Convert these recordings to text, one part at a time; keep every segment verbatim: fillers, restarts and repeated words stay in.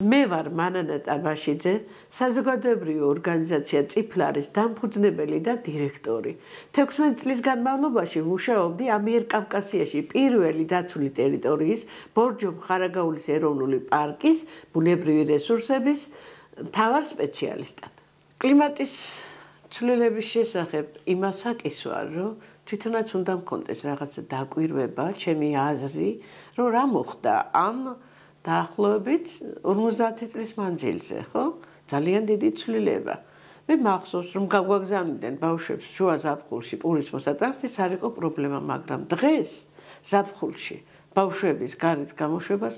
მე ვარ მანანა ტაბაშიძე, საზოგადოებრივი ორგანიზაცია წიფლარის დამფუძნებელი და დირექტორი. თექვსმეტ წლის განმავლობაში მუშაობდი ამიერკავკასიაში პირველი დაცული ტერიტორიის ბორჯომ-ხარაგაულის ეროვნული პარკის ბუნებრივი რესურსების მთავარ სპეციალისტად. კლიმატის ცვლილების შესახებ იმას აკისვარ, რომ თვითონაც უნდა მქონდეს რაღაცა დაკვირვება, ჩემი აზრი, რომ რა მოხდა ამ დაახლოებით ორმოცდაათი წლის მანძილზე, ხო? ძალიან დიდი ცვლილება. მე მახსოვს, რომ გაგვაგზავნიდნენ ბავშვებს შუა ზაფხულში პურის მოსატანს, ეს არ იყო პრობლემა, მაგრამ დღეს ზაფხულში ბავშვების გარეთ გამოშვებას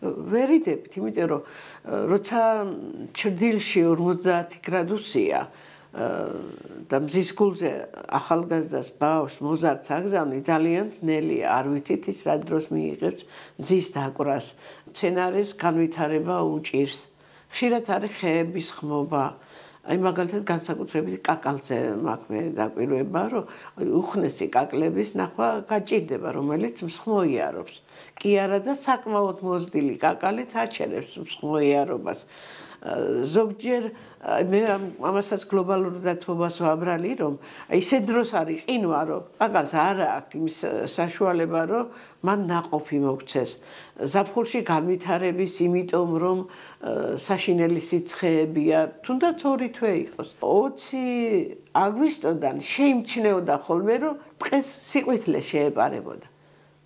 ვერ იდებით, იმიტომ რომ როცა ჩრდილში ორმოცდაათი გრადუსია და მზის გულზე ახალგაზრდას ბავშვს მოზარდს აგზავნი ძალიან ძნელია, არ ვიცით ის რა დროს მიიღებს მზის დაკვრას, მცენარის განვითარება უჭირს. ხშირად არის ხეების ხმობა. აი მაგალითად განსაკუთრებით კაკალზე მაქვს მე დაკვირვება, რომ უხნესი კაკლების ნახვა გაჭირდება, რომელიც მსხმოიარობს. კი არა და საკმაოდ მოზრდილი კაკალით აჩერებს მსხმოიარობას. ზოგჯერ მე ამასაც გლობალურ დათბობას ვაბრალი, რომ ისე დროს არის ყინვა, რომ კაკალს არ აქვს იმის საშუალება, რომ მან ნაყოფი მოქცეს. ზაფხულში განვითარების, იმიტომ რომ საშინელი სიცხეებია, თუნდაც ორი თვე იყოს. ოცი აგვისტოდან შეიმჩნეოდა ხოლმე, რომ დღეს სიყვითლე შეეპარებოდა.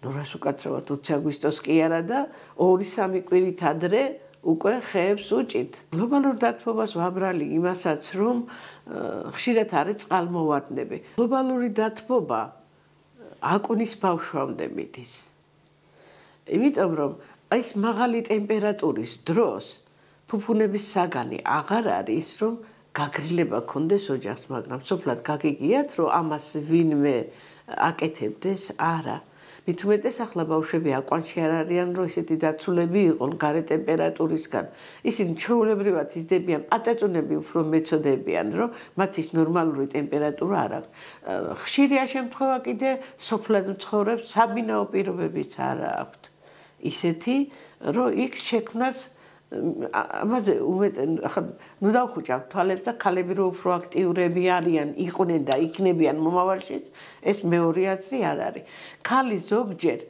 ნუ რას უკაცრავად ოცი აგვისტოს კი არა და ორი სამი კვირით ადრე უკვე ხეებს უჭით. გლობალურ დათბობას ვაბრალი იმასაც, რომ ხშირად არის წყალმოვარდნები. გლობალური დათბობა აკუნის ბავშვამდე მიდის. იმიტომ რომ აი ეს მაღალი ტემპერატურის დროს ფუფუნების საგანი აღარ არის, რომ გაგრილება ქონდეს ოჯახს, მაგრამ სოფლად გაგიგიათ, რომ ამას ვინმე აკეთებდეს, არა. მით უმეტეს ახლა ბავშვები აკვანში არ არიან, რომ ისეთი დაცულები იყონ გარე ტემპერატურისგან. ისინი ჩვეულებრივად იზრდებიან, პაწაწუნები უფრო მეწოდებიან, რომ მათ ის ნორმალური ტემპერატურა არ აქვს. ხშირია შემთხვევა კიდე სოფლად მცხოვრებს საბინაო პირობებიც არ აქვთ. ისეთი, რომ იქ შექმნას ამაზე უმეტენ, ახლა ნუ დავხუჭავთ თვალებს და ქალები რო უფრო აქტიურები არიან, იყვნენ და იქნებიან მომავალშიც, ეს მეორე აზრი არ არის. ქალი ზოგჯერ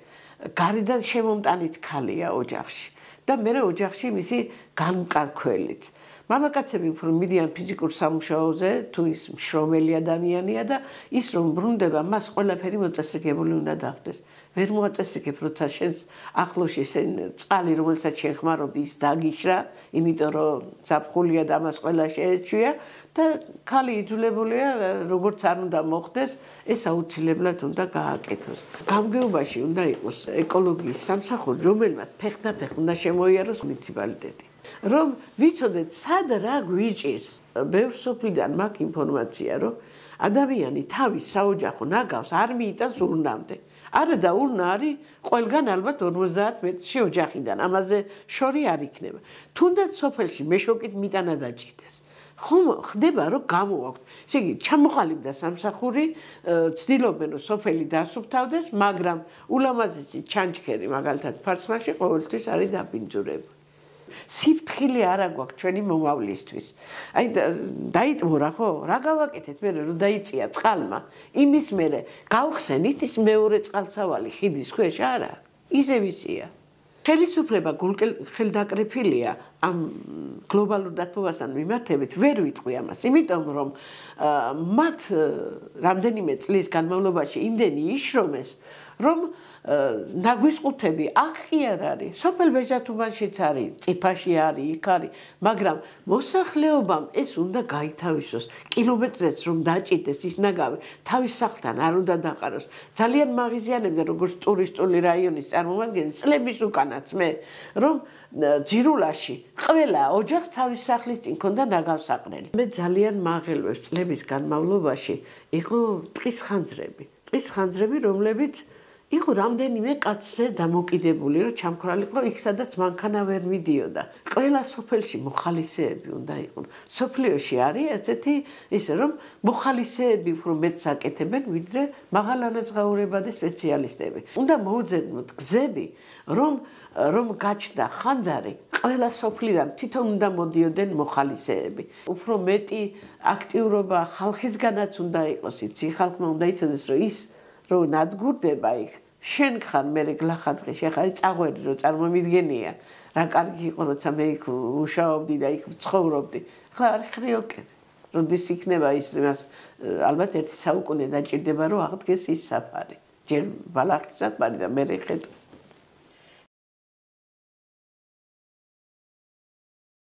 გარედან შემომტანიც ქალია ოჯახში და მე ოჯახში მისი განმკარქველიც. მამაკაცები უფრო მიდიან ფიზიკურ სამუშაოზე, თუ ის მშრომელი ადამიანია და ის რომ ბრუნდება, მას ყველაფერი მოწესრიგებული უნდა დახვდეს. ვერ მოაწესრიგებ, როცა შენს ახლოში წყალი, რომელსაც შენ ხმარობ, ის დაგიშრა, იმიტომ რომ ზაფხულია და მას ყველა შეეჩვია და ქალი იძულებულია, როგორც არ უნდა მოხდეს, ეს აუცილებლად უნდა გააკეთოს. გამგეობაში უნდა იყოს ეკოლოგიის სამსახური, რომელმაც ფეხდაფეხ უნდა შემოიაროს მუნიციპალიტეტი. რომ ვიცოდეთ, სად რა გვიჭირს. ბევრ სოფლიდან მაქვს ინფორმაცია, რომ ადამიანი თავის საოჯახო ნაგავს არ მიიტანს ურნამდე. არა და ურნა არის ყველგან ალბათ ორმოცდაათ მეტრში ოჯახიდან, ამაზე შორი არ იქნება. თუნდაც სოფელში მეშოკით მიტანა დაჭირდეს. ხომ ხდება, რომ გამოვაქვთ. ესე იგი, ჩამოყალიბდა სამსახური, ცდილობენ, რომ სოფელი დასუფთავდეს, მაგრამ ულამაზესი ჩანჩქერი, მაგალითად, ფარსმაში ყოველთვის არის დაბინძურებული. სიფთხილე არა გვაქვს ჩვენი მომავლისთვის. აი დაიტმურა ხო? რა გავაკეთეთ მე რომ დაიწია წყალმა? იმის მერე გავხსენით ის მეორე წყალსავალი ხიდის ქვეშ არა? ისევ ისია. ხელისუფლება ხელდაკრეფილია ამ გლობალურ დათბობასთან მიმართებით ვერ ვიტყვი ამას, იმიტომ რომ მათ რამდენიმე წლის განმავლობაში იმდენი იშრომეს, რომ ნაგვისყუთები აქ კი არ არის, სოფელ ბეჟათუბანშიც არის, წიფაში არის, იქ არის, მაგრამ მოსახლეობამ ეს უნდა გაითავისოს, კილომეტრებს რომ დაჭირდეს ის ნაგავი, თავის სახლთან არ უნდა დაყაროს. ძალიან მაღიზიანებდა როგორც ტურისტული რაიონის წარმომადგენელი წლების უკანაც მე, რომ ძირულაში ყველა ოჯახს თავის სახლის წინ ქონდა ნაგავსაყრელი. მე ძალიან მაღელვებს წლების განმავლობაში იყო ტყის ხანძრები. ტყის ხანძრები, რომლებიც იყო რამდენიმე კაცზე დამოკიდებული, რომ ჩამქრალიყო იქ, სადაც მანქანა ვერ მიდიოდა. ყველა სოფელში მოხალისეები უნდა იყვნენ. სოფლიოში არის ესეთი ისე, რომ მოხალისეები უფრო მეტს აკეთებენ, ვიდრე მაღალანაზღაურებადი სპეციალისტები. უნდა მოუძებნოთ გზები, რომ რომ გაჩნდა ხანძარი, ყველა სოფლიდან თვითონ უნდა მოდიოდნენ მოხალისეები. უფრო მეტი აქტიურობა ხალხისგანაც უნდა იყოს, იცი, ხალხმა უნდა იცოდეს, რომ ის რომ ნადგურდება იქ, შენ ხარ მე გლახაძღი, შეხა წაღვერი რომ წარმომიდგენია, რა კარგი იყო როცა მე იქ მუშაობდი და იქ ცხოვრობდი. ხლა არ ხრიოკენ. როდის იქნება ის მას ალბათ ერთი საუკუნე დაჭირდება რომ აღდგეს ის საფარი. ჯერ ბალახის საფარი და მე ხედავ